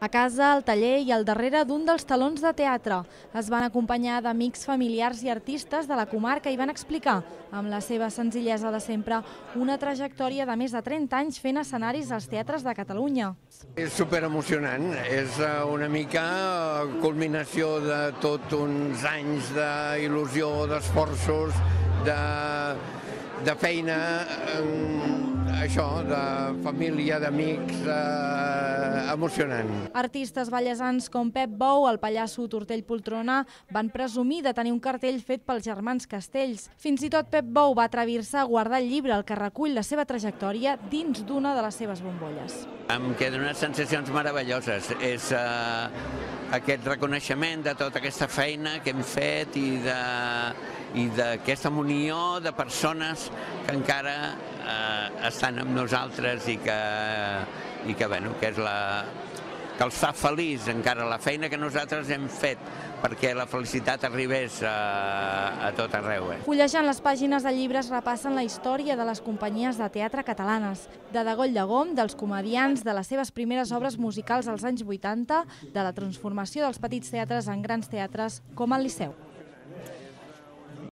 A casa, al taller i al darrere d'un dels talons de teatre. Es van acompanyar d'amics, familiars i artistes de la comarca i van explicar, amb la seva senzillesa de sempre, una trajectòria de més de 30 anys fent escenaris als teatres de Catalunya. És superemocionant, és una mica culminació de tots uns anys d'il·lusió, d'esforços, de feina, això, de família, d'amics, emocionant. Artistes ballesans com Pep Bou, el pallasso Tortell Poltrona, van presumir de tenir un cartell fet pels germans Castells. Fins i tot Pep Bou va atrevir-se a guardar el llibre, el que recull la seva trajectòria, dins d'una de les seves bombolles. Em queden unes sensacions meravelloses. És aquest reconeixement de tota aquesta feina que hem fet i d'aquesta munió de persones que encara estan amb nosaltres i que els fa feliç encara la feina que nosaltres hem fet perquè la felicitat arribés a tot arreu. Fullejant les pàgines del llibre es repassen la història de les companyies de teatre catalanes, de Degoll de Gom, dels comediants, de les seves primeres obres musicals als anys 80, de la transformació dels petits teatres en grans teatres com el Liceu.